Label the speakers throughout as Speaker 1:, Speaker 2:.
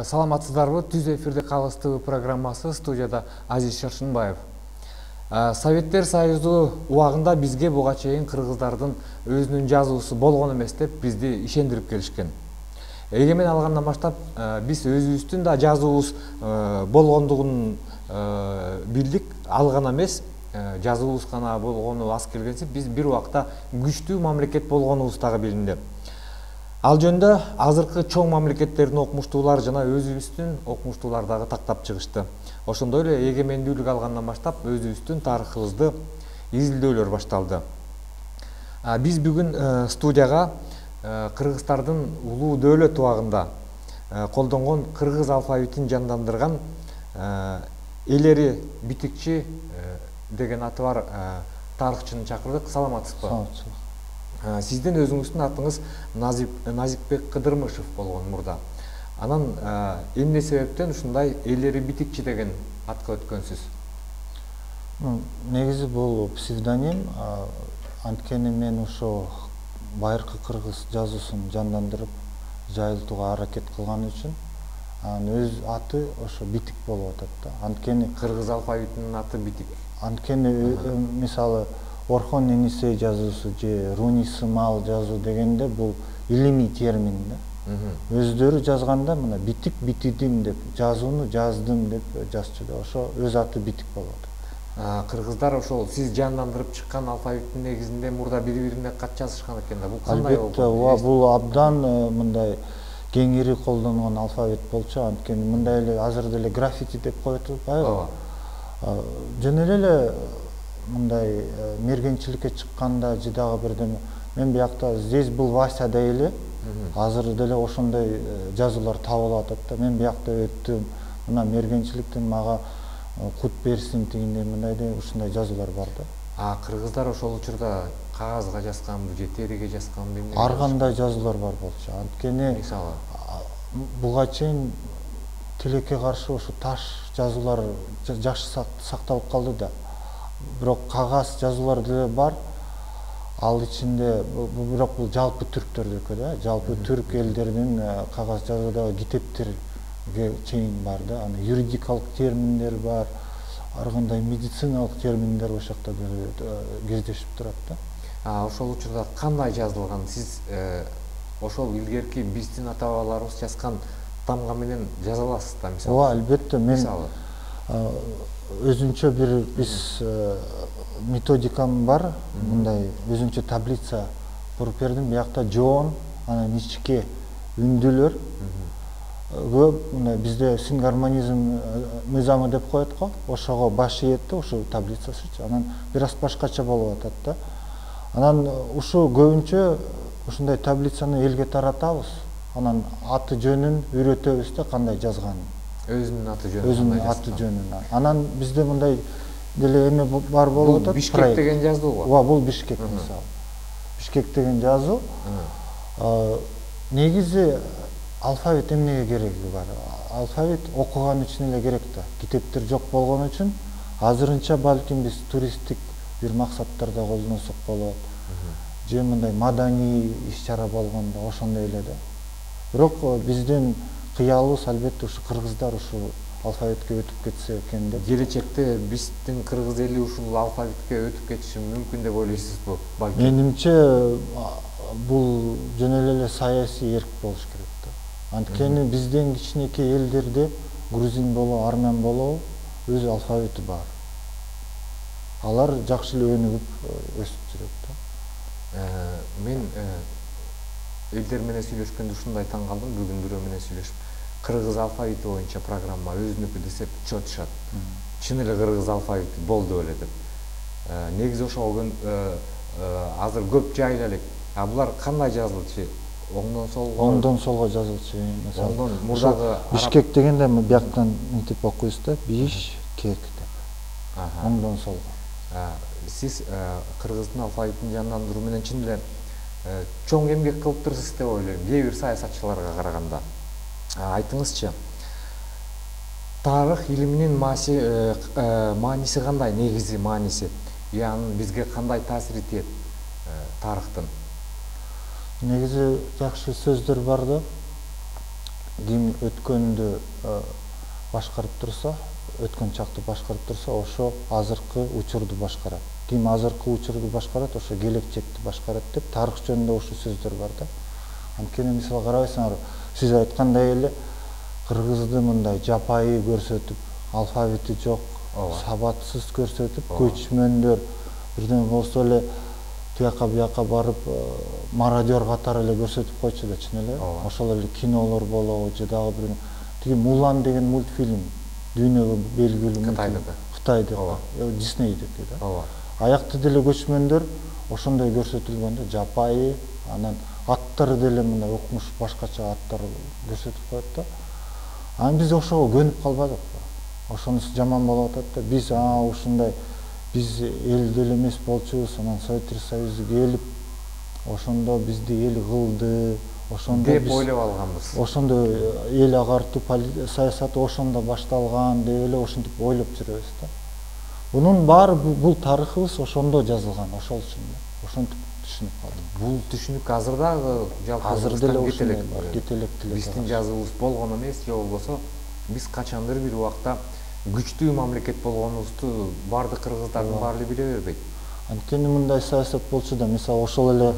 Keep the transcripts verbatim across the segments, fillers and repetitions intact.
Speaker 1: Саламатсыздарбы? Түз эфирде Калыс ТВ программасы, студияда Азиз Шаршынбаев. Советтер Союзу убагында бизге буга чейин кыргыздардын өзүнүн жазуусу болгон эмес деп бизди ишендирип келишкен. Эгемен алгандан баштап биз өзүбүздүн да жазуубуз болгондугун билдик, ал гана эмес, жазуубуз гана болгону аз келгенсип, биз бир убакта күчтүү мамлекет болгонубуз дагы билинди. Ал жөнүндө азыркы чоң мамлекеттердин окумуштуулар жана өзүбүздүн окумуштуулар дагы тактап чыгышты. Ошондой эле эгемендүүлүк алгандан баштап өзүбүздүн тарыхыбызды изилдөөлөр башталды. Биз бүгүн студияга кыргыздардын улуу дөөлөт убагында колдонгон кыргыз алфавитин жандандырган Элери Битикчи деген аты бар тарыхчыны чакырдык. Саламатсызбы?
Speaker 2: Саламатсызбы.
Speaker 1: Сиздин өзүңүздүн атыңыз Назикбек Кыдырмышев болгон мурда. Анан эмне себептен ушундай Элери Битикчи деген атка өткөнсүз?
Speaker 2: Негизи бул псевдоним, анткени мен ошо байыркы кыргыз жазуусун жандандырып жайылтууга аракет кылган үчүн анын өз аты ошо Битик болуп атат да. Анткени
Speaker 1: кыргыз алфавитинин аты Битик.
Speaker 2: Анткени мисалы Орхон Енисей жазуусу же Руни Сымал жазуу дегенде бул илимий термин да. Өздөрү жазганда мына битик битидим деп, жазууну жаздым деп жазчу да. Ошо өз аты Битик болуп атат.
Speaker 1: Кыргыздар ошол сиз жандандырып чыккан алфавиттин негизинде мурда бири-бирине кат жазышкан экен да. Бул кандай болду?
Speaker 2: Албетте, бул абдан мындай кеңири колдонгон алфавит болчу. Анткени мындай эле азыр деле граффити деп коет атпайбы? Жөн эле мындай мергенчиликке чыкканда же дагы бирдеме мен биякта здесь был Вася дейли азыр деле ошондой жазуулар табылып атат да. Мен биякта өттүм, мына мергенчиликтен мага кут берсин тигиндей мындай деп ушундай жазуулар бар да.
Speaker 1: А кыргыздар ошол учурда кагазга жазганбы же териге жазганбы эмне?
Speaker 2: Ар кандай жазуулар бар болчу. Анткени
Speaker 1: мисалы
Speaker 2: буга чейин тилекке каршы ошо таш жазуулар жакшы сакталып калды да. Бирок кагаз жазуулар деле бар. Ал ичинде бирок бул жалпы түрктөрдүкү да, жалпы түрк элдеринин кагаз жазуудагы китептерге чейин бар да. Аны юридикалык терминдер бар, ар кандай медициналык терминдер ошол жакта кездешип турат да.
Speaker 1: А ошол учурда кандай жазылган? Сиз ошол илгерки биздин ата бабаларыбыз жазган тамга менен жаза аласыз да, мисалы?
Speaker 2: Ооба, албетте. Мен өзүнчө бир биз методикам бар, мындай өзүнчө таблица буруп бердим. Биякта жоон, анан ичке үндүлөр көп, мындай бизде сингармонизм мыйзамы деп коет го, ошого баш ийет да, ушул таблицасычы. Анан бир аз башкача болуп атат да. Анан ушу көбүнчө ушундай таблицаны элге таратабыз. Анан аты жөнүн үйрөтөбүз да, кандай жазганын.
Speaker 1: Өзүнүн аты жөнүн.
Speaker 2: Өзүнүн аты жөнүн. Анан бизде мындай деле эме бар болуп атат.
Speaker 1: Бишкек деген жазуу го.
Speaker 2: Ооба, бул Бишкек мисалы. Бишкек деген жазуу. Негизи алфавит эмнеге кереги бар? Алфавит окуган үчүн эле керек да. Китептер жок болгон үчүн азырынча балким биз туристтик бир максаттарда колдонсок болот. Же мындай маданий иш-чара болгондо ошондой эле да. Бирок биздин кыялыбыз албетте ушу кыргыздар ушул алфавитке өтүп кетсе экен деп.
Speaker 1: Келечекте биздин кыргыз эли ушул алфавитке өтүп кетиши мүмкүн деп ойлойсузбу?
Speaker 2: Менимче бул жөн эле саясий эрк болуш керек да. Анткени бизден кичинекей элдерде грузин болобу, армян болобу өз алфавити бар. Алар жакшы эле өнүгүп өсүп жүрөт да.
Speaker 1: Мен элдер менен сүйлөшкөндө ушундай таң калдым. Бүгүн бирөө менен сүйлөшүп, кыргыз алфавити боюнча программа өзүнүкү десеп чотушат. Чын эле кыргыз алфавити болду эле деп. Негизи ошого азыр көп жайыла элек. А булар кандай жазылчу? Оңдон солго?
Speaker 2: Оңдон солго жазылчу.
Speaker 1: Оңдон мурдагы
Speaker 2: Бишкек дегенде бияктан мынтип окуйбуз да, Бишкек деп. Оңдон солго.
Speaker 1: Сиз кыргыздын алфавитин жандандыруу менен чын эле чоң эмгек кылыптырсыз деп ойлойм, кээ бир саясатчыларга караганда. Айтыңызчы, тарых илиминин мааниси кандай, негизи мааниси? Яны бизге кандай таасир этет тарыхтын?
Speaker 2: Негизи жакшы сөздөр бар да. ким өткөндү башкарып турса, өткөн чакты башкарып турса, ошо азыркы учурду башкарат. Ким азыркы учурду башкарат, ошо келечекти башкарат деп тарых жөнүндө ушул сөздөр бар да. Анткени мисалы карабайсыңар, сиз айткандай эле кыргызды мындай жапайы көрсөтүп, алфавити жок, сабатсыз көрсөтүп, көчмөндөр бирден болсо эле тияка бияка барып мародер катары эле көрсөтүп койчу да, чын эле. Ошол эле кинолор болобу, же дагы бир тиги Мулан деген мультфильм дүйнөгө белгилүү
Speaker 1: Кытайдыкы.
Speaker 2: Кытайдыкы, Диснейдики да. Аякта деле көчмөндөр ошондой көрсөтүлгөн да, жапайы, анан аттары деле мындай укмуш башкача аттар көрсөтүп коет да. Анан биз ошого көнүп калбадык. Ошонусу жаман болуп атат да. Биз а ушундай биз эл деле эмес болчубуз, анан Советтер Союзу келип, ошондо бизди эл кылды, ошондо
Speaker 1: деп ойлоп алганбыз.
Speaker 2: Ошондо эл агартуу саясаты ошондо башталган деп эле ошентип ойлоп жүрөбүз да. Бунун баары бул тарыхыбыз ошондо жазылган, ошол үчүн ошентип түшүнүп калдым.
Speaker 1: Бул түшүнүк азыр дагы жалпы
Speaker 2: азыр деле ушундай бар, кетелек деле.
Speaker 1: Биздин жазуубуз болгон эмес, же болбосо биз качандыр бир убакта күчтүү мамлекет болгонубузду бардык кыргыздардын баары эле биле бербейт.
Speaker 2: Анткени мындай саясат болчу да, мисалы ошол эле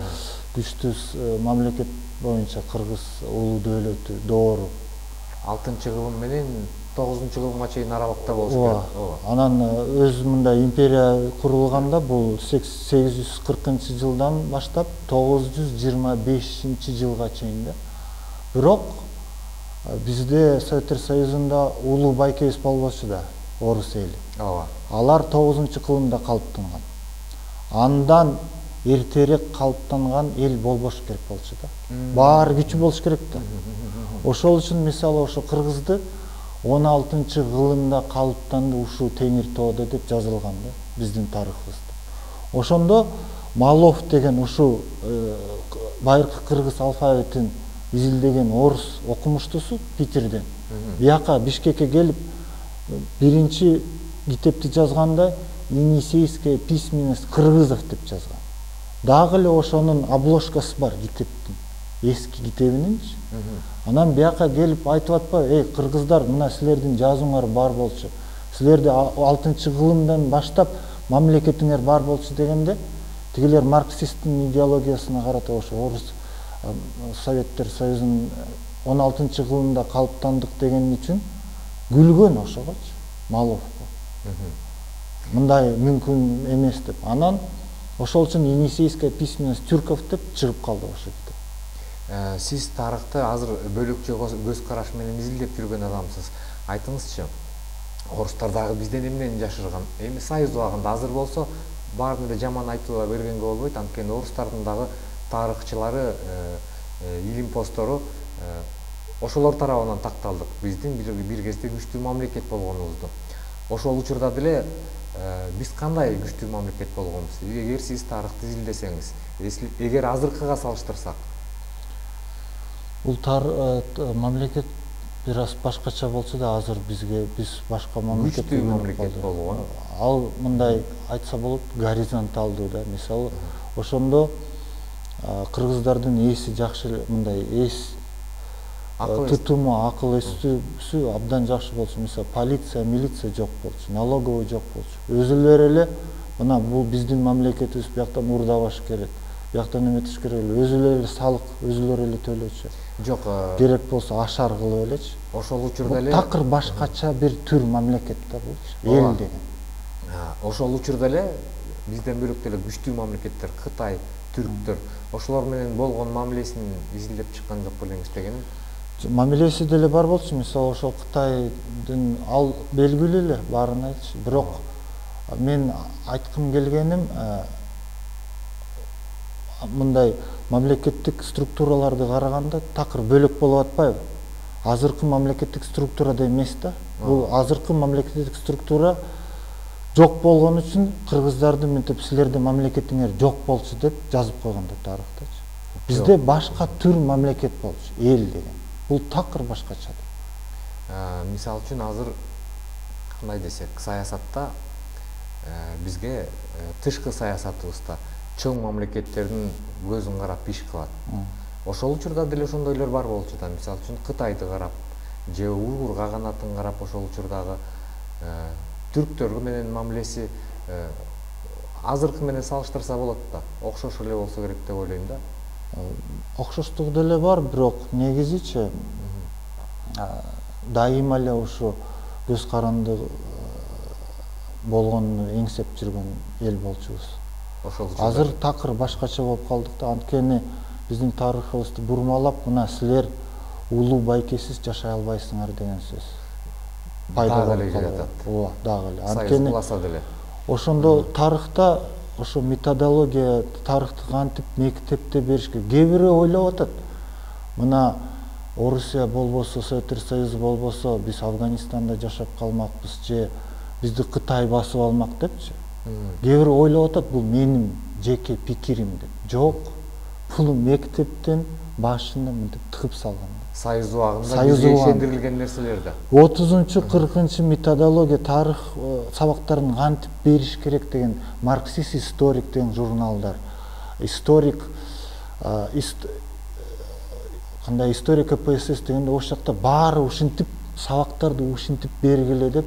Speaker 2: күчтүү мамлекет боюнча кыргыз улуу дөөлөтү доору
Speaker 1: алтынчы кылым менен тогузунчу кылымга чейин аралыкта болуш керек.
Speaker 2: Анан өз мындай империя курулганда бул сегиз жүз кыркынчы жылдан баштап тогуз жүз жыйырма бешинчи жылга чейин да. Бирок бизде Советтер Союзунда улуу байкебиз болбочу да, орус эли.
Speaker 1: Ооба.
Speaker 2: Алар тогузунчу кылымда калыптанган. Андан эртерээк калыптанган эл болбош керек болчу да. Баары күчү болуш керек да. Ошол үчүн мисалы ошо кыргызды он алтынчы кылымда калыптанды ушул Теңир тоодо деп жазылган да биздин тарыхыбызда. Ошондо Малов деген ушул байыркы кыргыз алфавитин изилдеген орус окумуштусу Питерден бияка Бишкекке келип биринчи китепти жазганда Енисейская письменность кыргызов деп жазган. Дагы эле ошонун обложкасы бар китептин, эски китебининчи. Анан бияка келип айтып атпайбы, эй кыргыздар, мына силердин жазууңар бар болчу. Силерде алтынчы кылымдан баштап мамлекетиңер бар болчу дегенде, тигилер марксисттин идеологиясына карата ошо орус Советтер Союзунун он алтынчы кылымда калыптандык деген үчүн күлгөн ошогочу, Маловго. Мындай мүмкүн эмес деп. Анан ошол үчүн Енисейская письменность тюрков деп чыгып калды ошо китеп.
Speaker 1: Сиз тарыхты азыр бөлөкчө көз караш менен изилдеп жүргөн адамсыз. Айтыңызчы, орустар дагы бизден эмнени жашырган? Эми Союз убагында азыр болсо баарын эле жаман айтууга бергенге болбойт, анткени орустардын дагы тарыхчылары, илим постору ошолор тарабынан такталдык. Биздин бир кезде күчтүү мамлекет болгонубузду. Ошол учурда деле биз кандай күчтүү мамлекет болгонбуз? Эгер сиз тарыхты изилдесеңиз, эгер азыркыга салыштырсак,
Speaker 2: бул мамлекет бир аз башкача болсо да, азыр бизге биз башка мамлекет
Speaker 1: күчтүү мамлекет болгон.
Speaker 2: Ал мындай айтса болот, горизонталдуу да. Мисалы, ошондо кыргыздардын эси жакшы, мындай эс тутуму, акыл эсүүсү абдан жакшы болчу. Мисалы, полиция, милиция жок болчу, налоговый жок болчу. Өзүлөрү эле мына бул биздин мамлекетибиз, бияктан урдабаш керек, бияктан эметиш керек эле, өзүлөрү эле салык, өзүлөрү эле төлөчү.
Speaker 1: Жок,
Speaker 2: керек болсо ашар кылып элечи.
Speaker 1: Ошол учурда эле
Speaker 2: такыр башкача бир түр мамлекет да бул, эл деген.
Speaker 1: Ошол учурда эле бизден бөлөк деле күчтүү мамлекеттер, Кытай, түрктөр, ошолор менен болгон мамилесин изилдеп чыккан жок белеңиз дегеним?
Speaker 2: Мамилеси деле бар болчу. Мисалы, ошол Кытайдын ал белгилүү эле, баарын айтчы. Бирок мен айткым келгеним, мындай мамлекеттик структураларды караганда такыр бөлөк болуп атпайбы? Азыркы мамлекеттик структурада эмес да. Бул азыркы мамлекеттик структура жок болгон үчүн кыргыздарды мынтип силердин мамлекетиңер жок болчу деп жазып койгон да тарыхтачы. Бизде башка түр мамлекет болчу, эл деген. Бул такыр башкача.
Speaker 1: Мисалы үчүн азыр кандай десек, саясатта бизге тышкы саясатыбызда чоң мамлекеттердин көзүн карап иш кылат. ошол учурда деле ошондойлор бар болчу да, мисалы үчүн Кытайды карап же уйгур каганатын карап ошол учурдагы түрктөр менен мамилеси азыркы менен салыштырса болот да, окшош эле болсо керек деп ойлойм да.
Speaker 2: Окшоштугу деле бар, бирок негизичи дайыма эле ушу көз каранды болгонун эңсеп жүргөн эл болчубуз. Азыр такыр башкача болуп калдык да, анткени биздин тарыхыбызды бурмалап, мына силер улуу байкесиз жашай албайсыңар деген сөз пайда болуп калат. Ооба, дагы эле.
Speaker 1: Анткени буласа деле.
Speaker 2: Ошондо тарыхта ошо методология, тарыхты кантип мектепте беришке кээ бири ойлоп атат. Мына Орусия болбосо, Советтер Союзу болбосо, биз Афганистанда жашап калмакпыз же бизди Кытай басып алмак депчи. Кээ бири ойлоп атат, бул менин жеке пикирим деп. Жок, бул мектептен башына мынтип тыгып салган.
Speaker 1: Союз убагында бизге ишендирилген нерселер да.
Speaker 2: отузунчу кыркынчы методология тарых сабактарын кантип бериш керек деген марксист историк деген журналдар. Историк кандай историк КПСС дегенде ошол жакта баары ушинтип сабактарды ушинтип бергиле деп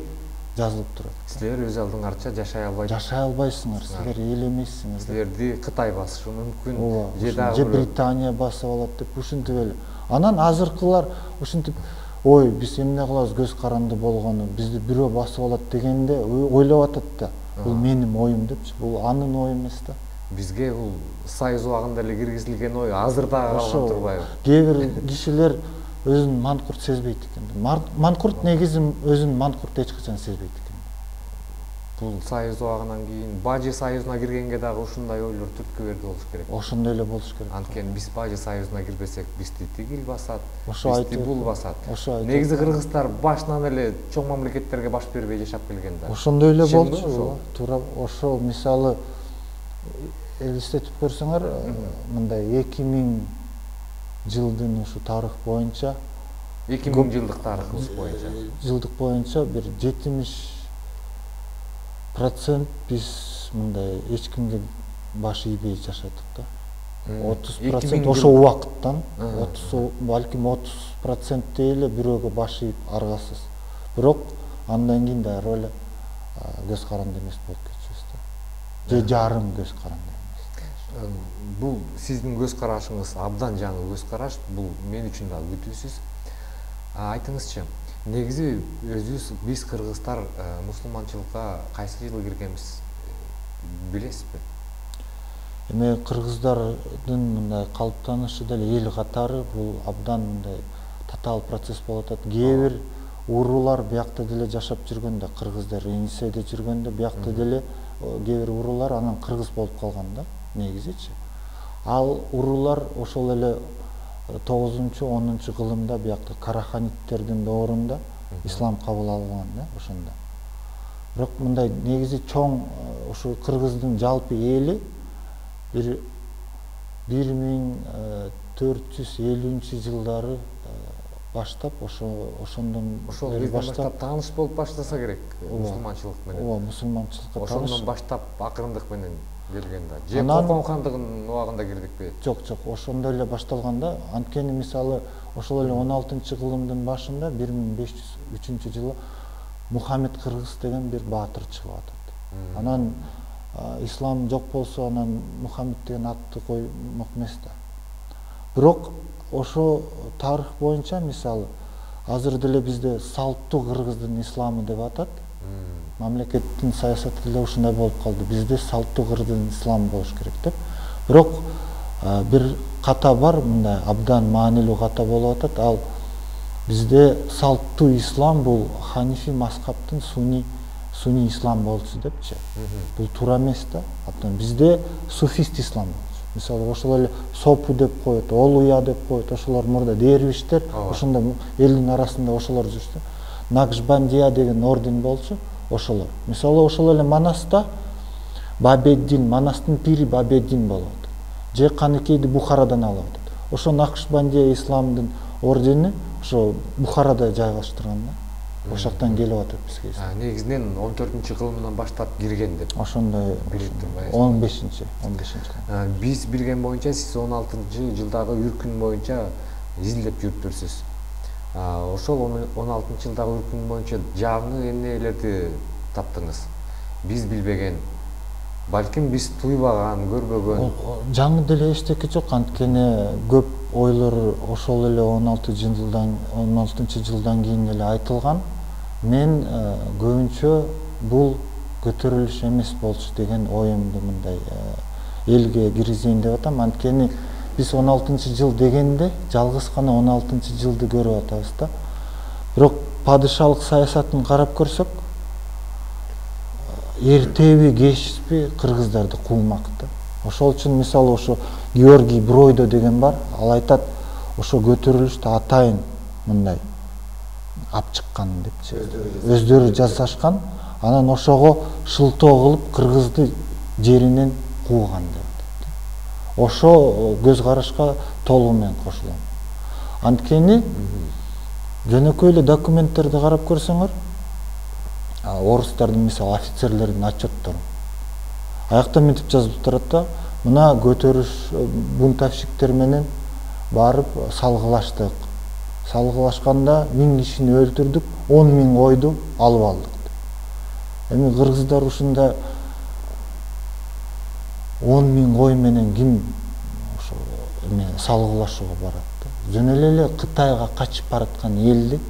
Speaker 2: жазылып турат.
Speaker 1: Силер өз алдыңарча жашай албайсыңар.
Speaker 2: Жашай албайсыңар, силер эл эмессиңер.
Speaker 1: Силерди Кытай басышы мүмкүн,
Speaker 2: же дагы Британия басып алат деп ушинтип эле. Анан азыркылар ушинтип, ой, биз эмне кылабыз көз каранды болгону, бизди бирөө басып алат дегенде ойлоп атат да. Бул менин оюм депчи, бул анын ою эмес да.
Speaker 1: Бизге бул Союз убагында эле киргизилген ой азыр дагы калган турбайбы?
Speaker 2: Кээ бир кишилер өзүн манкурт сезбейт экен. Манкурт негизи өзүн манкурт эч качан сезбейт экен.
Speaker 1: Бул Союз убагынан кийин Бажы Союзуна киргенге дагы ушундай ойлор түрткү берди болуш керек.
Speaker 2: Ошондой эле болуш керек.
Speaker 1: Анткени биз Бажы Союзуна кирбесек, бизди тигил басат, бизди бул басат. Негизи кыргыздар башынан эле чоң мамлекеттерге баш бербей жашап келген да.
Speaker 2: Ошондой эле болчу. Туура ошол мисалы элестетип көрсөңөр, мындай эки миң жылдын ушу тарых боюнча,
Speaker 1: эки миң жылдык тарыхыбыз боюнча,
Speaker 2: жылдык боюнча бир жетимиш процент биз мындай эч кимге баш ийбей жашадык да. отуз процент ошол убакыттан, отуз балким отуз процент эле бирөөгө баш ийип аргасыз. Бирок андан кийин дайыр эле көз каранды эмес болуп кетчүбүз да. Же жарым көз каранды.
Speaker 1: Бул сиздин көз карашыңыз абдан жаңы көз караш, бул мен үчүн да күтүүсүз. Айтыңызчы, негизи өзүбүз биз кыргыздар мусулманчылыкка кайсы жылы киргенбиз билесизби?
Speaker 2: Эми кыргыздардын мындай калыптанышы деле эл катары бул абдан мындай татаал процесс болуп атат. Кээ бир уруулар биякта деле жашап жүргөндө, кыргыздар Енисейде жүргөндө биякта деле кээ бир уруулар анан кыргыз болуп калган да. Негизичи. Ал уруулар ошол эле тогузунчу онунчу кылымда биякта караханиттердин доорунда ислам кабыл алган да, ошондо. Бирок мындай негизи чоң ушу кыргыздын жалпы эли бир бир миң төрт жүз элүүнчү жылдары баштап ошо ошондон
Speaker 1: ошол кезден баштап тааныш болуп баштаса керек мусулманчылык менен.
Speaker 2: Ооба, мусулманчылыкка тааныш.
Speaker 1: Ошондон баштап акырындык менен келген да. Же Кокон хандыгынын убагында кирдикпи?
Speaker 2: Жок, жок, ошондой эле башталган да. Анткени мисалы ошол эле он алтынчы кылымдын башында бир миң беш жүз үчүнчү жылы Мухаммед Кыргыз деген бир баатыр чыгып атат. Анан ислам жок болсо анан Мухаммед деген атты коймок эмес да. Бирок ошо тарых боюнча мисалы азыр деле бизде салттуу кыргыздын исламы деп атат. Мамлекеттин саясаты деле ушундай болуп калды. Бизде салттуу кыргыздын исламы болуш керек деп. Бирок бир ката бар, мындай абдан маанилүү ката болуп атат. Ал бизде салттуу ислам бул ханифи мазхабтын суни суни ислам болчу депчи. Бул туура эмес да. Абдан бизде суфист ислам болчу. Мисалы ошол эле сопу деп коет, олуя деп коет, ошолор мурда дервиштер, ошондо элдин арасында ошолор жүрчү. Накшбандия деген орден болчу. Ошолор. Мисалы ошол эле Манаста Бабеддин, Манастын пири Бабеддин болот. Же Каныкейди Бухарадан алып атат. Ошо Накшбандия исламдын ордени ошо Бухарада жайгаштырган да. ошол жактан келип атат бизге.
Speaker 1: Негизинен он төртүнчү кылымдан баштап кирген деп.
Speaker 2: Ошондой
Speaker 1: билип турбайбыз.
Speaker 2: он бешинчи, он бешинчи.
Speaker 1: Биз билген боюнча сиз он алтынчы жылдагы үркүн боюнча изилдеп жүрүптүрсүз. Ошол он алтынчы жылдагы үркүн боюнча жаңы эмнелерди таптыңыз? Биз билбеген, балким биз туйбаган, көрбөгөн.
Speaker 2: Жаңы деле эчтеке жок, анткени көп ойлор ошол эле он алтынчы жылдан он алтынчы жылдан кийин эле айтылган. Мен көбүнчө бул көтөрүлүш эмес болчу деген оюмду мындай элге киргизейин деп атам. Анткени биз он алтынчы жыл дегенде жалгыз гана он алтынчы жылды көрүп атабыз да. Бирок падышалык саясатын карап көрсөк, эртеби кечпи кыргыздарды куулмакта. Ошол үчүн мисалы ошо Георгий Бройдо деген бар, ал айтат, ошо көтөрүлүштү атайын мындай ап чыккан депчи. Өздөрү жасашкан, анан ошого шылтоо кылып кыргызды жеринен кууган деп. Ошо көз карашка толугу менен кошулам. Анткени жөнөкөй эле документтерди карап көрсөңөр, орустардын мисалы офицерлердин отчеттору. Аякта мынтип жазылып турат да, мына көтөрүш бунтовщиктер менен барып салгылаштык. Салгылашканда миң кишини өлтүрдүк, он миң ойду алып алдык. Эми кыргыздар ушунда он миң ой менен ким ошо эме салгылашууга барат. Жөн эле Кытайга качып бараткан элди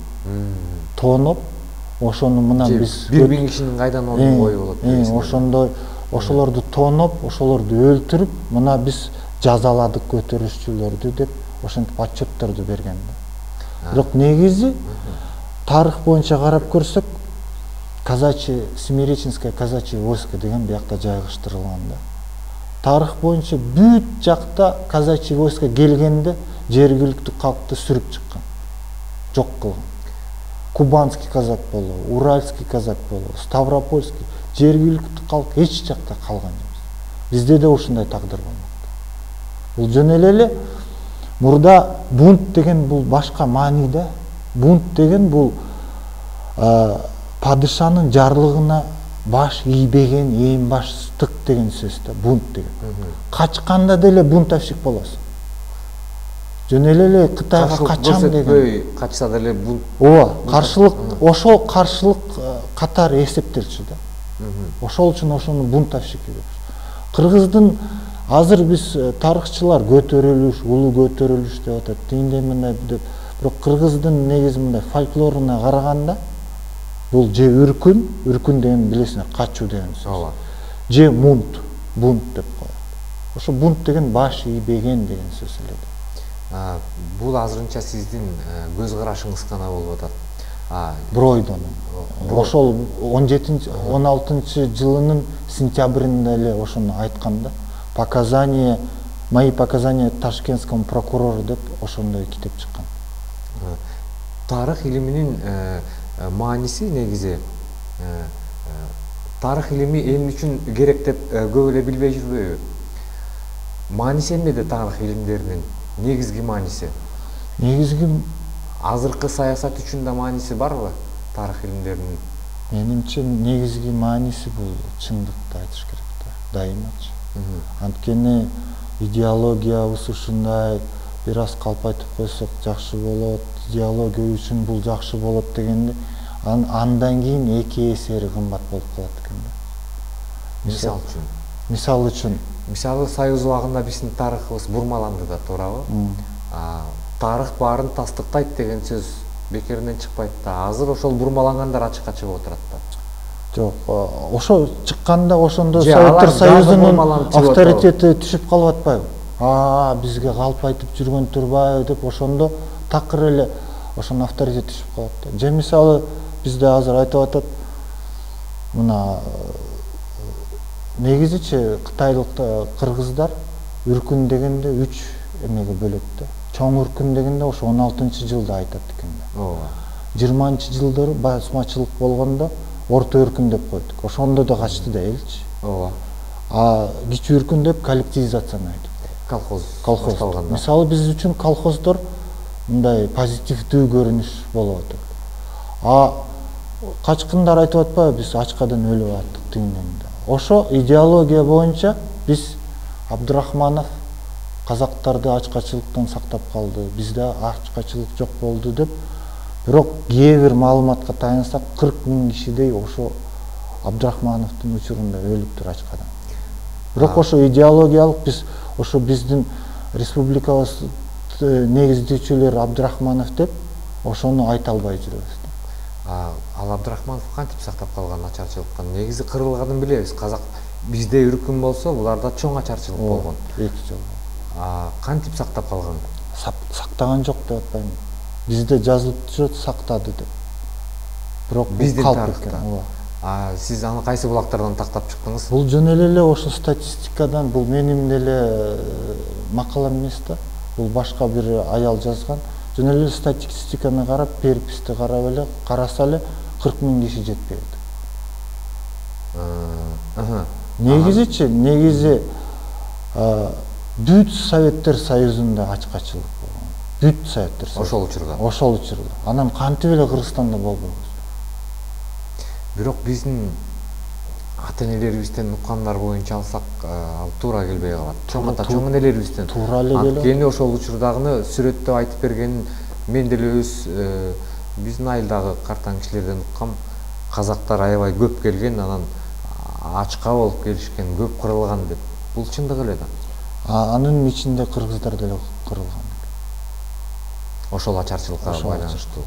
Speaker 2: тооноп, ошону мына биз
Speaker 1: бир миң кишинин кайдан он миң ою болот?
Speaker 2: Ошондой ошолорду тооноп, ошолорду өлтүрүп, мына биз жазаладык көтөрүшчүлөрдү деп ошентип отчетторду берген. Бирок негизи тарых боюнча карап көрсөк, казачий Семиреченское казачье войско деген биякта жайгаштырылган да. Тарых боюнча бүт жакта казачий войско келгенде жергиликтүү калкты сүрүп чыккан, жок кылган. Кубанский казак болобу, Уральский казак болобу, Ставропольский, жергиликтүү калк эч жакта калган эмес. Бизде да ушундай тагдыр болмок. Бул жөн эле мурда бунт деген бул башка маани да. Бунт деген бул падышанын жарлыгына баш ийбеген эң баштык деген сөз да, бунт деген. Качканда деле бунтовщик болосуң. Жөн эле Кытайга качам деген.
Speaker 1: Качса деле бунт.
Speaker 2: Ооба, каршылык, ошол каршылык катары эсептелчү да. Ошол үчүн ошону бунтовщик деп. Кыргыздын азыр биз тарыхчылар көтөрүлүш, улуу көтөрүлүш деп атат, тиндей мындай деп. Бирок кыргыздын негизи мындай фольклоруна караганда бул же үркүн, үркүн деген билесиңер, качуу деген сөз. Ооба. Же мунт, бунт деп коет. Ошо бунт деген баш ийбеген деген сөз эле.
Speaker 1: Бул азырынча сиздин көз карашыңыз гана болуп атат.
Speaker 2: Бройдонун. Ошол он жетинчи он алтынчы жылынын сентябрында эле ошону айткан да. Показания, мои показания ташкентскому прокурору деп ошондой китеп чыккан.
Speaker 1: Тарых илиминин мааниси негизи тарых илими эмне үчүн керек деп көп эле билбей жүрбөйбү? Мааниси эмнеде тарых илимдеринин? Негизги мааниси?
Speaker 2: Негизги
Speaker 1: азыркы саясат үчүн да мааниси барбы тарых илимдеринин?
Speaker 2: Менимче негизги мааниси бул чындыкты айтыш керек да, дайымачы. Анткени идеологиябыз ушундай, бир аз калпайтып койсок жакшы болот, идеология үчүн бул жакшы болот дегенде, андан кийин эки эсери кымбат болуп калат экен да.
Speaker 1: Мисал үчүн.
Speaker 2: Мисал үчүн.
Speaker 1: Мисалы Союз убагында биздин тарыхыбыз бурмаланды да, туурабы? Тарых баарын тастыктайт деген сөз бекеринен чыкпайт да. Азыр ошол бурмалангандар ачыкка чыгып отурат да.
Speaker 2: Жок, ошо чыкканда ошондо Советтер Союзунун авторитети түшүп калып атпайбы? А, бизге калпайтып жүргөн турбайбы деп ошондо такыр эле ошонун авторитети түшүп калат да. Же мисалы бизде азыр айтып атат, мына негизичи кытайлык кыргыздар үркүн дегенде үч эмеге бөлөт да. Чоң үркүн дегенде ошо он алтынчы жылда айтат экен да. Ооба. жыйырманчы жылдары басмачылык болгондо орто үркүн деп койдук. Ошондо да качты да элчи. Ооба. А кичи үркүн деп коллективизацияны айтып.
Speaker 1: Колхоз.
Speaker 2: Колхоз. Мисалы биз үчүн колхоздор мындай позитивдүү көрүнүш болуп атат. А качкындар айтып атпайбы, биз ачкадан өлүп аттык тигинден. Ошо идеология боюнча биз Абдурахманов казактарды ачкачылыктан сактап калды, бизде ачкачылык жок болду деп. Бирок кээ бир маалыматка таянсак кырк миң кишидей ошо Абдурахмановдун учурунда өлүптүр ачкадан. Бирок ошо идеологиялык биз ошо биздин республикабыз негиздөөчүлөр Абдурахманов деп ошону айта албай жүрөбүз.
Speaker 1: Ал Абдурахманов кантип сактап калган ачарчылыктан? Негизи кырылганын билебиз. Казак бизде үркүм болсо, буларда чоң ачарчылык болгон.
Speaker 2: эки жыл.
Speaker 1: Кантип сактап калган?
Speaker 2: Сактаган жок деп атпайм. Бизде жазылып турат сактады деп. Бирок
Speaker 1: биздин тарыхта. Сиз аны кайсы булактардан тактап чыктыңыз?
Speaker 2: Бул жөн эле ошо статистикадан, бул менин деле макалам эмес да. Бул башка бир аял жазган. Жөн эле статистиканы карап, переписти карап эле караса эле кырк миң киши жетпейт. Негизичи, негизи бүт Советтер Союзунда ачкачылык болгон. Бүт Советтер Союзунда.
Speaker 1: Ошол учурда.
Speaker 2: Ошол учурда. Анан кантип эле Кыргызстанда болбойбуз?
Speaker 1: Бирок биздин ата-энелерибизден уккандар боюнча алсак, ал туура келбей калат. Чоң ата, чоң энелерибизден
Speaker 2: туура эле келет.
Speaker 1: Анткени ошол учурдагыны сүрөттөп айтып бергенин мен деле өз биздин айылдагы картаң кишилерден уккам. Казактар аябай көп келген, анан ачка болуп келишкен, көп кырылган деп. Бул чындык эле да.
Speaker 2: Анын ичинде кыргыздар деле кырылган.
Speaker 1: Ошол ачарчылыкка байланыштуу.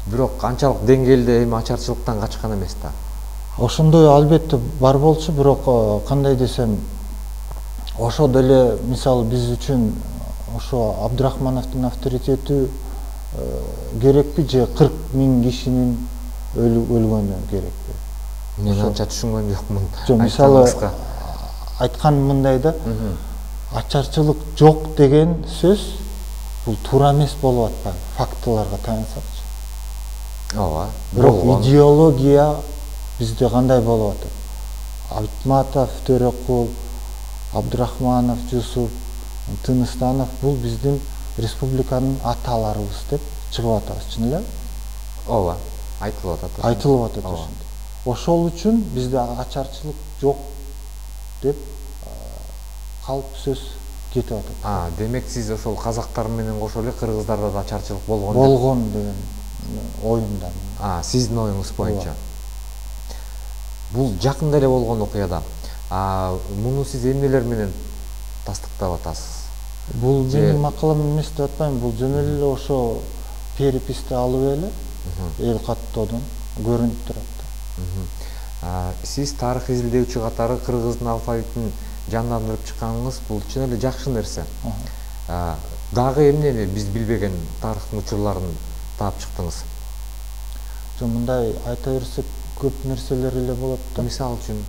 Speaker 1: Бирок канчалык деңгээлде эми ачарчылыктан качкан эмес да.
Speaker 2: Ошондой албетте бар болчу, бирок кандай десем, ошо деле мисалы биз үчүн ошо Абдурахмановдун авторитети керекпи же кырк миң кишинин өлгөнү керекпи?
Speaker 1: Мен анча түшүнгөн жокмун.
Speaker 2: Жок, мисалы айткан мындай да, ачарчылык жок деген сөз бул туура эмес болуп атпайбы, фактыларга таянсакчы.
Speaker 1: Ооба.
Speaker 2: Бирок идеология бизде кандай болуп атат? Айтматов, Төрөкул, Абдурахманов, Жусуп, Тыныстанов бул биздин республиканын аталарыбыз деп чыгып атабыз, чын эле?
Speaker 1: Ооба, айтылып атат.
Speaker 2: Айтылып атат ошондой. Ошол үчүн бизде ачарчылык жок деп калп сөз кетип атат.
Speaker 1: А, демек сиз ошол казактар менен кошо эле кыргыздарда да ачарчылык болгон.
Speaker 2: Болгон деген оюмдан.
Speaker 1: А, сиздин оюңуз боюнча. Бул жакында эле болгон окуяда. А, муну сиз эмнелер менен тастыктап атасыз?
Speaker 2: Бул менин макалам эмес деп атпайм, бул жөн эле ошо переписти алып эле эл каттоодон көрүнүп турат.
Speaker 1: Сиз тарых изилдөөчү катары кыргыздын алфавитин жандандырып чыкканыңыз бул чын эле жакшы нерсе. Дагы эмнени биз билбеген тарыхтын учурларын таап чыктыңыз?
Speaker 2: Жок, мындай айта берсек көп нерселер эле болот да.
Speaker 1: Мисалы үчүн,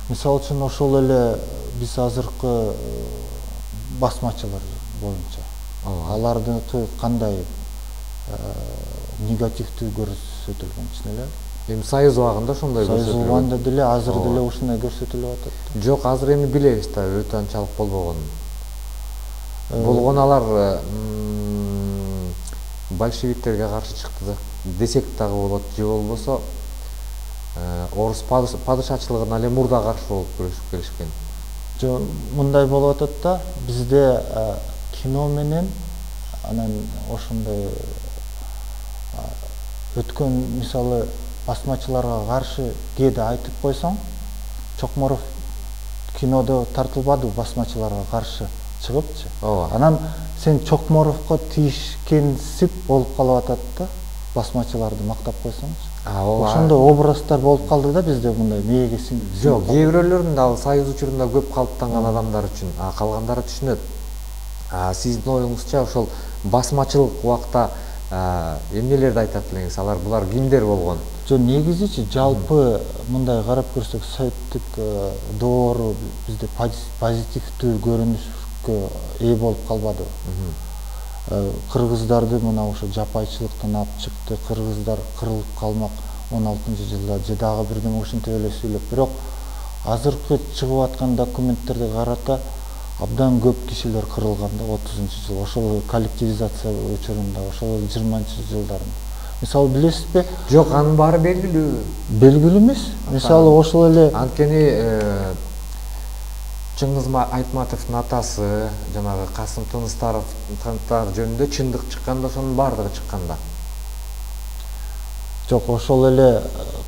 Speaker 2: мисалы үчүн ошол эле биз азыркы басмачылар боюнча. Алардыкы кандай негативдүү көрсөтүлгөн, чын эле?
Speaker 1: Эми Союз убагында ошондой көрсөтүлгөн.
Speaker 2: Союз убагында деле, азыр деле ушундай көрсөтүлүп атат.
Speaker 1: Жок, азыр эми билебиз да, өтө анчалык болбогонун. Болгон алар большевиктерге каршы чыкты десек дагы болот, же болбосо орус падышачылыгына эле мурда каршы болуп күрөшүп келишкен.
Speaker 2: Жок, мындай болуп атат да, бизде кино менен анан ошондой өткөн мисалы басмачыларга каршы кээде айтып койсоң, Чокморов кинодо тартылбады басмачыларга каршы чыгыпчы. Анан сен Чокморовго тийишкенсип болуп калып атат да, басмачыларды мактап койсоңчу. Ошондой образдар болуп калды да бизде, мындай мээге сиңип.
Speaker 1: Жок, кээ бирөөлөрүн ал Союз учурунда көп калыптанган адамдар үчүн, а калгандары түшүнөт. Сиздин оюңузча ошол басмачылык убакта эмнелерди айтат элеңиз? Алар булар кимдер болгон?
Speaker 2: Жок, негизичи жалпы мындай карап көрсөк, советтик доору бизде позитивдүү көрүнүшкө ээ болуп калбады. Кыргыздарды мына ошо жапайчылыктан алып чыкты, кыргыздар кырылып калмак он алтынчы жылда же дагы бирдеме ушинтип эле сүйлөп. Бирок азыркы чыгып аткан документтерди карата абдан көп кишилер кырылган да отузунчу жыл, ошол коллективизация учурунда, ошол жыйырманчы жылдарын. мисалы билесизби?
Speaker 1: Жок, анын баары белгилүү.
Speaker 2: Белгилүү эмес. Мисалы ошол эле
Speaker 1: анткени Чыңгыз Айтматовдун атасы жанагы Касым Тыныстанов жөнүндө чындык чыкканда ошонун баардыгы чыкканда.
Speaker 2: Жок, ошол эле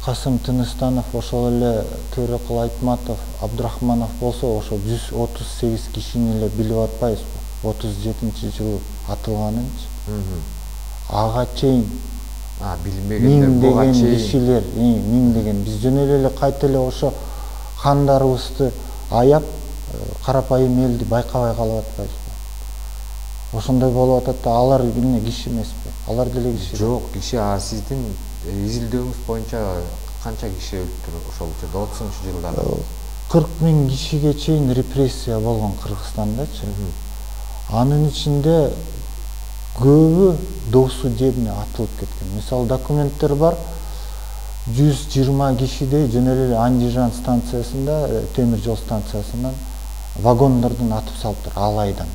Speaker 2: Касым Тыныстанов, ошол эле Төрөкул Айтматов, Абдрахманов болсо ошо жүз отуз сегиз кишини эле билип атпайбызбы? отуз жетинчи жылы атылганынчы. Ага чейин
Speaker 1: а билмегендер буга чейин
Speaker 2: кишилер, миң деген биз жөн эле кайта эле ошо хандарыбызды аяп карапайым элди байкабай калып атпайбызбы? Ошондой болуп атат да, алар эмне киши эмеспи? Алар деле киши.
Speaker 1: Жок, киши. А сиздин изилдөөңүз боюнча канча киши өлтүр ошол учурда отузунчу жылдары?
Speaker 2: кырк миң кишиге чейин репрессия болгон Кыргызстандачы. Анын ичинде көбү до судебный атылып кеткен. Мисалы документтер бар, жүз жыйырма кишидей жөн эле Андижан станциясында, темир жол станциясынан вагондордун атып салыптыр алайдан.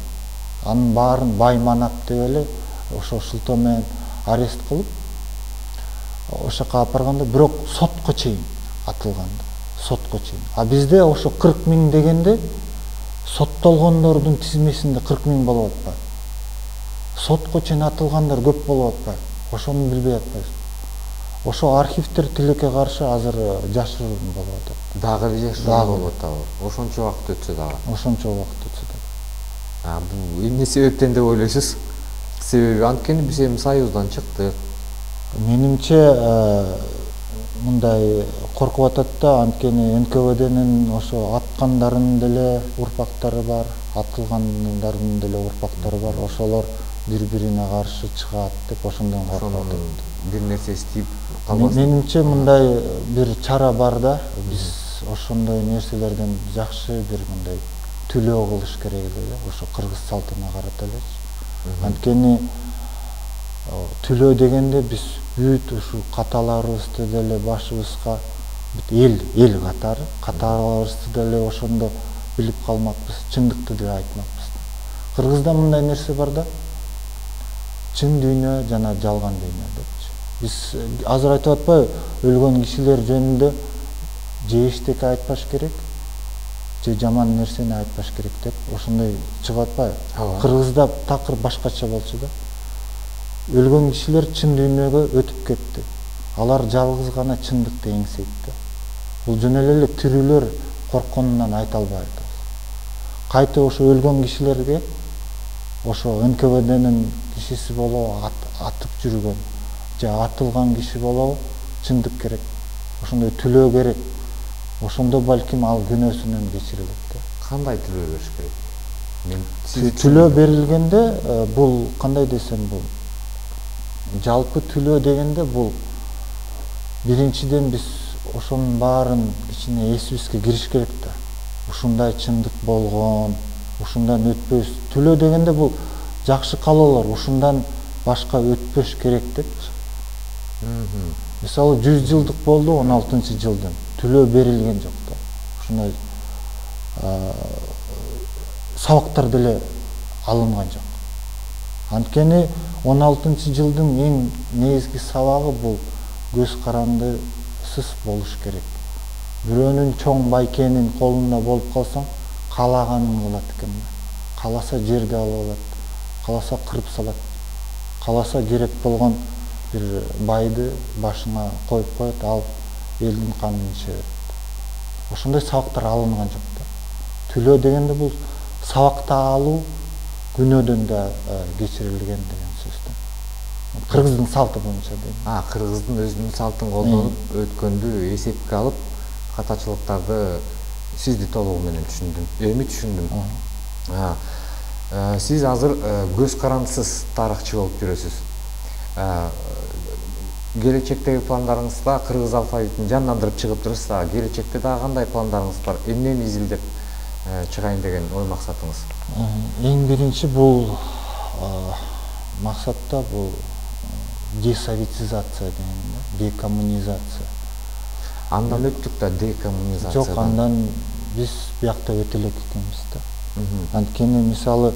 Speaker 2: Анын баарын байманап деп эле ошо шылтоо менен арест кылып, ошол жака алып барганда, бирок сотко чейин атылган. Сотко чейин. А бизде ошо кырк миң дегенде соттолгондордун тизмесинде кырк миң болуп атпайбы? Сотко чейин атылгандар көп болуп атпайбы? Ошону билбей атпайбыз. Ошо архивдер тилекке каршы азыр жашыруун болуп атат.
Speaker 1: Дагы эле жашыруун болуп атабы? Ошончо убакыт өтсө дагы.
Speaker 2: Ошончо убакыт өтсө дагы.
Speaker 1: А бул эмне себептен деп ойлойсуз? Себеби анткени биз эми Союздан чыктык.
Speaker 2: Менимче мындай коркуп атат да, анткени эн ка вэ днин ошо аткандардын деле урпактары бар, атылгандардын деле урпактары бар. Ошолор бири-бирине каршы чыгат деп ошондон коркуп атат.
Speaker 1: Бир нерсе иштеп калбасын.
Speaker 2: Менимче мындай бир чара бар да, биз ошондой нерселерден жакшы бир мындай төлөө кылыш керек эле, ошо кыргыз салтына карата элечи. Анткени төлөө дегенде биз бүт ушу каталарыбызды деле башыбызга эл эл катары каталарыбызды деле ошондо билип калмакпыз, чындыкты деле айтмакпыз. Кыргызда мындай нерсе бар да, чын дүйнө жана жалган дүйнө депчи. Биз азыр айтып атпайбы, өлгөн кишилер жөнүндө же эчтеке айтпаш керек, же жаман нерсени айтпаш керек деп ошондой чыгып атпайбы? Кыргызда такыр башкача болчу да. Өлгөн кишилер чын дүйнөгө өтүп кетти. Алар жалгыз гана чындыкты эңсейт да. Бул жөн эле тирүүлөр коркконунан айта албай атабыз. Кайта ошо өлгөн кишилерге ошо эн ка вэ днин кишиси болобу, атып жүргөн же атылган киши болобу, чындык керек. Ошондой төлөө керек. Ошондо балким ал күнөөсүнөн кечирилет да.
Speaker 1: Кандай төлөө бериш керек?
Speaker 2: Төлөө берилгенде бул кандай десем бул жалпы төлөө дегенде бул биринчиден биз ошонун баарын ичине эсибизге кириш керек да. Ушундай чындык болгон, ушундан өтпөс. Төлөө дегенде бул жакшы каалоолор, ушундан башка өтпөш керек депчи. Мисалы жүз жылдык болду он алтынчы жылдын. Төлөө берилген жок да. Ушундай сабактар деле алынган жок. Анткени он алтынчы жылдын эң негизги сабагы бул көз карандысыз болуш керек. Бирөөнүн чоң байкенин колунда болуп калсаң, каалаганын кылат экен. Кааласа жерди алып алат, кааласа кырып салат, кааласа керек болгон бир байды башына коюп коет, ал элдин канын ичет. Ошондой сабактар алынган жок да. Төлөө дегенде бул сабакты алуу күнөөдөн да кечирилген деген сөз да. Кыргыздын салты боюнча дейм.
Speaker 1: А, кыргыздын өзүнүн салтын колдонуп өткөндү эсепке алып, катачылыктарды сизди толугу менен түшүндүм. Эми түшүндүм. Сиз азыр көз карандысыз тарыхчы болуп жүрөсүз. Келечектеги пландарыңызда кыргыз алфавитин жандандырып чыгып турасыз. Келечекте дагы кандай пландарыңыз бар? Эмнени изилдеп чыгайын деген ой максатыңыз?
Speaker 2: Эң биринчи бул максатта бул десоветизация деген, декоммунизация.
Speaker 1: Андан өттүк да декоммунизация.
Speaker 2: Жок, андан биз биякта өтө элек экенбиз да. Анткени мисалы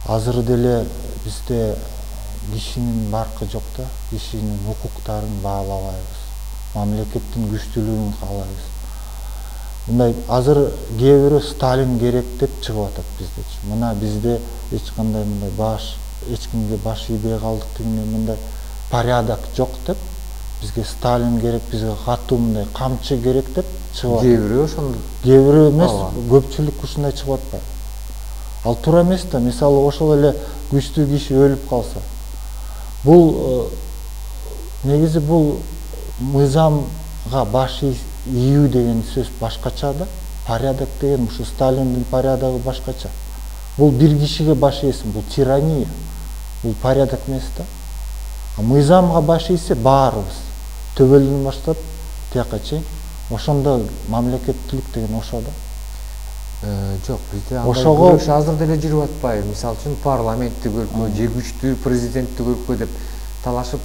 Speaker 2: азыр деле бизде кишинин баркы жок да, кишинин укуктарын баалабайбыз, мамлекеттин күчтүүлүгүн каалайбыз. Мындай азыр кээ бирөө Сталин керек деп чыгып атат биздечи. Мына бизде эч кандай мындай баш, эч кимге баш ийбей калдык дегенде мындай порядок жок деп, бизге Сталин керек, бизге катуу мындай камчы керек деп чыгып атат.
Speaker 1: Кээ бирөө ошондо.
Speaker 2: Кээ бирөө эмес, көпчүлүк ушундай чыгып атпайбы? Ал туура эмес да. Мисалы ошол эле күчтүү киши өлүп калса, бул негизи бул мыйзамга баш ийүү деген сөз башкача да. Порядок деген ушу Сталиндин порядогу башкача. Бул бир кишиге баш ийсин, бул тирания. Бул порядок эмес да. А мыйзамга баш ийсе баарыбыз төбөлдөн баштап тияка чейин ошондо мамлекеттүүлүк деген ошо да.
Speaker 1: Жок, бизде андай күрөш азыр деле жүрүп атпайбы. Мисалы үчүн парламентти көркө, же күчтүү президентти көркө деп талашып,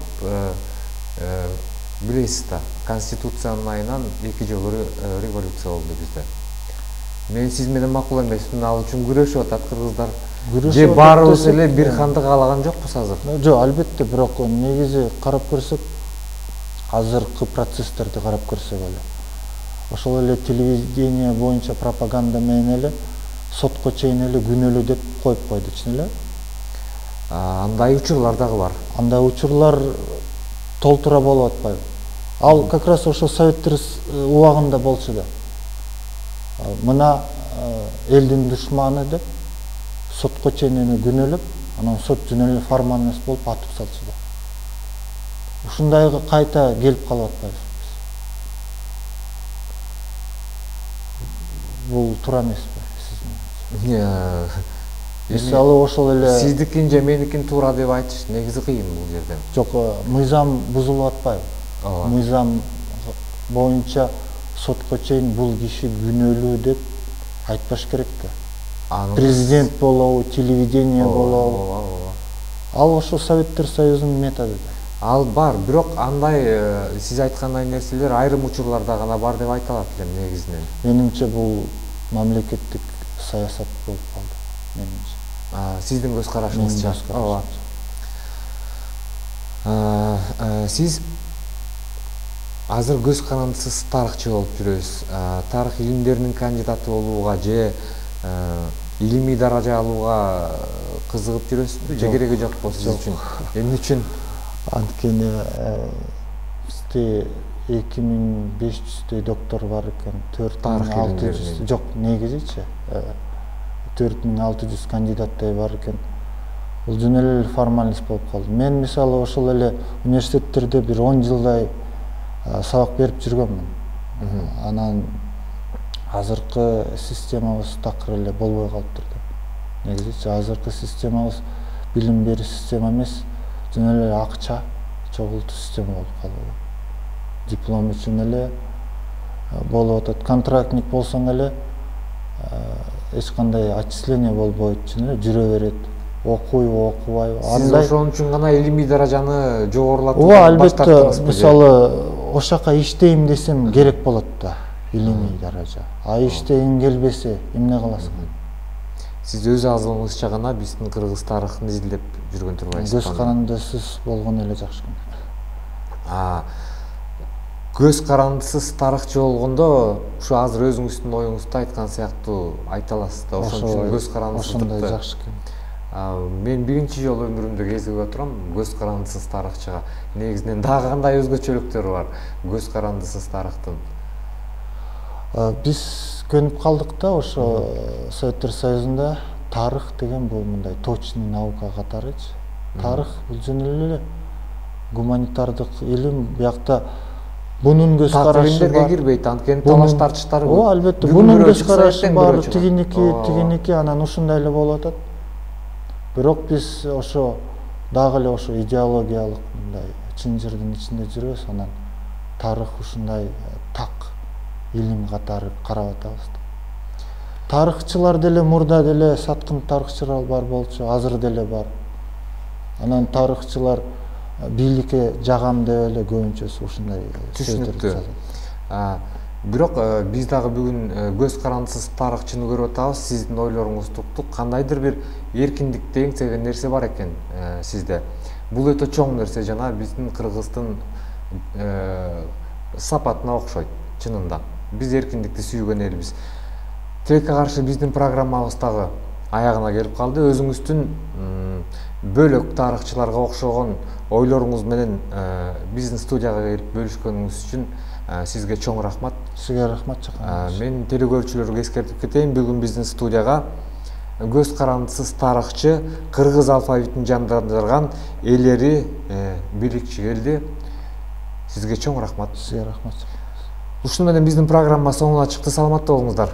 Speaker 1: билесиз да, конституциянын айынан эки жолу революция болду бизде. Мен сиз менен макул эмесмин, ал үчүн күрөшүп атат кыргыздар. Же баарыбыз эле бир ханды каалаган жокпуз азыр?
Speaker 2: Жок, албетте, бирок негизи карап көрсөк, азыркы процесстерди карап көрсөк эле, ошол эле телевидение боюнча пропаганда менен эле сотко чейин эле күнөөлүү деп коюп койду, чын эле.
Speaker 1: Андай учурлар дагы бар.
Speaker 2: Андай учурлар толтура болуп атпайбы? Ал как раз ошо советтер убагында болчу да. Мына элдин душманы деп сотко чейин эми күнөөлөп, анан сот жөн эле формальность болуп атып салчу да. Ушундайга кайта келип калып атпайбыз. Бул туура эмеспи сиздин? Мисалы ошол эле
Speaker 1: сиздикин же меникин туура деп айтыш негизи кыйын бул жерде.
Speaker 2: Жок, мыйзам бузулуп атпайбы? Мыйзам боюнча сотко чейин бул киши күнөөлүү деп айтпаш керек да. Президент болобу, телевидение болобу. Ал ошо Советтер Союзунун методу да.
Speaker 1: Ал бар, бирок андай сиз айткандай нерселер айрым учурларда гана бар деп айтылат эле негизинен.
Speaker 2: Менимче бул мамлекеттик саясат болуп калды, менимче.
Speaker 1: Сиздин көз карашыңызча?
Speaker 2: Ооба.
Speaker 1: Сиз азыр көз карандысыз тарыхчы болуп жүрөсүз. Тарых илимдеринин кандидаты болууга же илимий даража алууга кызыгып жүрөсүзбү? Же кереги жокпу сиз үчүн? Эмне үчүн?
Speaker 2: Анткени бизде эки миң беш жүздөй доктор бар экен, төрт миң алты жүз, жок, негизичи төрт миң алты жүз кандидаттай бар экен. Бул жөн эле формальность болуп калды. Мен мисалы ошол эле университеттерде бир он жылдай сабак берип жүргөмүн. Анан азыркы системабыз такыр эле болбой калыптыр да. Негизичи азыркы системабыз билим берүү система эмес, жөн эле акча чогултуу система болуп калды. Диплом үчүн эле болуп атат. Контрактник болсоң эле эч кандай отчисление болбойт, чын эле жүрө берет. Окуйбу, окубайбы.
Speaker 1: Сиз ошон үчүн гана илимий даражаны жогорулатып
Speaker 2: Ооба, албетте, мисалы ошака иштейм десем керек болот да, илимий даража. А иштегиң келбесе эмне кыласың?
Speaker 1: Сиз өз азыбыңызча гана биздин кыргыз тарыхын изилдеп жүргөн турбайсызбы?
Speaker 2: Көз карандысыз болгону эле жакшы.
Speaker 1: Көз карандысыз тарыхчы болгондо ушу азыр өзүңүздүн оюңузду айткан сыяктуу айта аласыз да. Ошон үчүн көз карандысыздыкты.
Speaker 2: Ошондой жакшы экен.
Speaker 1: Мен биринчи жолу өмүрүмдө кезигип отурам көз карандысыз тарыхчыга. Негизинен дагы кандай өзгөчөлүктөрү бар көз карандысыз тарыхтын?
Speaker 2: Биз көнүп калдык да ошо Советтер Союзунда тарых деген бул мындай точный наука катарычы. Тарых бул жөн эле гуманитардык илим, биякта бунун көз карашы бар.
Speaker 1: Кирбейт, анткени талаш тартыштар көп.
Speaker 2: Ооба, албетте, бунун көз карашы бар, тигиники, тигиники, анан ушундай эле болуп атат. Бирок биз ошо дагы эле ошо идеологиялык мындай чынжырдын ичинде жүрөбүз, анан тарых ушундай так илим катары карап атабыз. Тарыхчылар деле мурда деле саткын тарыхчылар бар болчу, азыр деле бар. Анан тарыхчылар бийликке жагам деп эле көбүнчөсү ушундай сөздөрдү жазат.
Speaker 1: Бирок биз дагы бүгүн көз карандысыз тарыхчыны көрүп атабыз. Сиздин ойлоруңузду уктук. Кандайдыр бир эркиндикти эңсеген нерсе бар экен сизде. бул өтө чоң нерсе жана биздин кыргыздын сапатына окшойт чынында. Биз эркиндикти сүйгөн элбиз. Тилекке каршы биздин программабыз дагы аягына келип калды. Өзүңүздүн бөлөк тарыхчыларга окшогон ойлоруңуз менен биздин студияга келип бөлүшкөнүңүз үчүн сизге чоң рахмат.
Speaker 2: Сизге рахмат чакырдыңыз.
Speaker 1: Мен телекөрүүчүлөргө эскертип кетейин, бүгүн биздин студияга көз карандысыз тарыхчы, кыргыз алфавитин жандандырган Элери Биликчи келди. Сизге чоң рахмат.
Speaker 2: Сизге рахмат.
Speaker 1: Ушуну менен биздин программа соңуна чыкты. Саламатта болуңуздар.